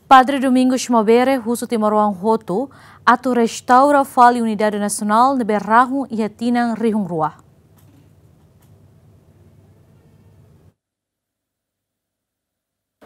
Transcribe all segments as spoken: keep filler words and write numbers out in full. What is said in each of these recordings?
Padre Domingos Maubere husu timoroan hotu atu restaura fali unidade nasionál ne'ebé rahun iha tinan rihun rua.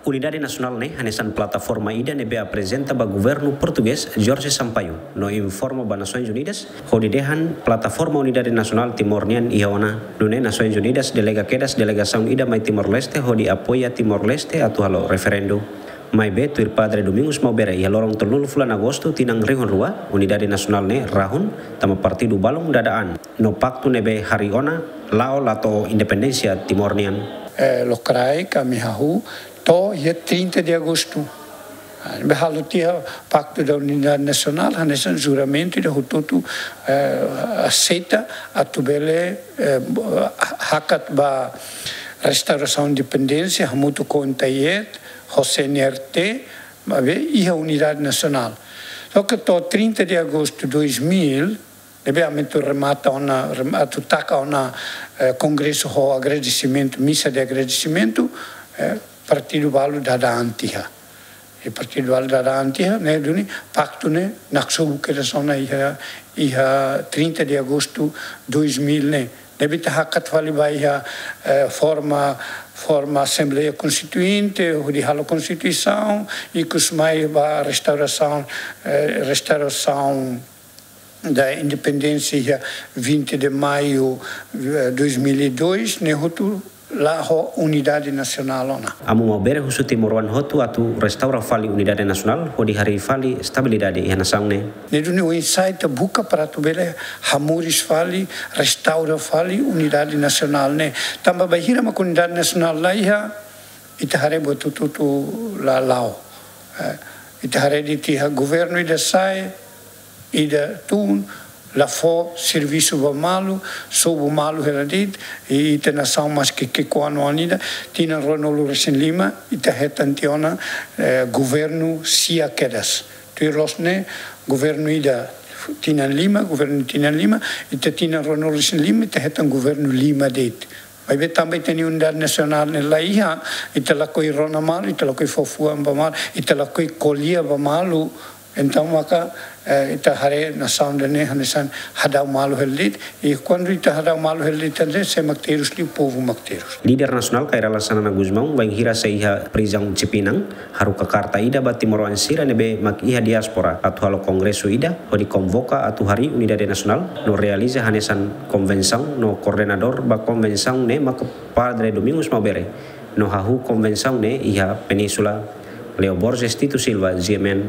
Unidade nasionál ne'e hanesan plataforma ida ne'ebé aprezenta ba governu portugés Jorge Sampaio, no informa ba Nasoins Unidas hodi dehan plataforma unidade nasionál Timor nian iha ona. Nune'e Nasoins Unidas delega kedas delegasaun ida mai Timor-Leste hodi apoia Timor-Leste atu halo referendu. Maibé tuir Padre Domingos Maubere, iha loron tolunulu fulan Agostu tinan rihun rua, unidade nasionál ne'e rahun, tanba partidu balun dada an, no paktu ne'ebé harii ona la'o la to'o independénsia Timor nian. Eh, lokraik ami hahú to'o iha trinta de Agostu. Ah, ne'ebé halo tiha Pacto da Unidade Nacional, hanesan juramentu ida hotu-hotu, eh, aseita atu bele, eh, hakat ba restaurasaun independénsia, hamutuk ho UNTAIED, ho C N R T, maibé iha unidade nasionál. Só ke to'o trinta de Agostu dois mil, ne'ebé ami atu remata ona, rem-, atu taka ona, eh, kongresu ho agradesimentu, misa de agradesimentu, eh, partidu balu dada an tiha. I partidu balu dada an tiha, ne'e duni paktu ne'e naksobu kedas ona iha, iha trinta de Agostu dois mil ne'e. Ne'ebé ita hakat fali ba iha, eh, forma, forma Asembleia Konstituinte, hodi halo Konstituisaun, ikusmai ba restaurasaun, eh, restaurasaun da independénsia iha vinte de Maio, eh, dois mil e dois, ne'e hotu la'o unidade nasionál ona. Amu Maubere husu timoroan hotu atu restaura fali unidade nasionál, hodi harii fali estabilidade iha nasaun ne'e. Ne'e duni oinsá ita buka para atu bele hamoris fali, restaura fali unidade nasionál ne'e. Tanba bainhira mak unidade nasionál la iha, ita haree buat hotu-hotu la la'o. Eh, ita haree de'it iha governu ida sa'e, ida tun, la fó servisu ba malu, sobu malu hela de'it, i ita nasaun maski ki'ik-oan-oan ida, tinan ruanulu-resin-lima, ita hetan tiha ona, eh, governu sia kedas. Tuir loos ne'e, governu ida tinan lima, governu tinan lima, ita tinan ruanulu-resin-lima, ita hetan governu lima de'it. Maibé tanba ita-nia unidade nasionál ne'e la iha, ita lakohi rona malu, ita lakohi fó fuan ba malu, ita lakohi ko'alia ba malu. Entaun maka, eh, ita haree nasaun ida-ne'e hanesan hadau malu hela de'it, i kuandu ita hadau malu hela de'it, entaun sé mak terus liu, povu mak terus. Líder nasionál Kay Rala Xanana Gusmão bainhira sei iha prizaun Sipinang, haruka karta ida ba timoroan sira ne'ebé mak iha diáspora atu halo kongresu ida hodi konvoka atu harii unidade nasionál no realiza hanesan konvensaun no koordenadór ba konvensaun ne'e maka Padre Domingos Maubere no hahú konvensaun ne'e iha Península. Leo Borges, Tito Silva, G M N,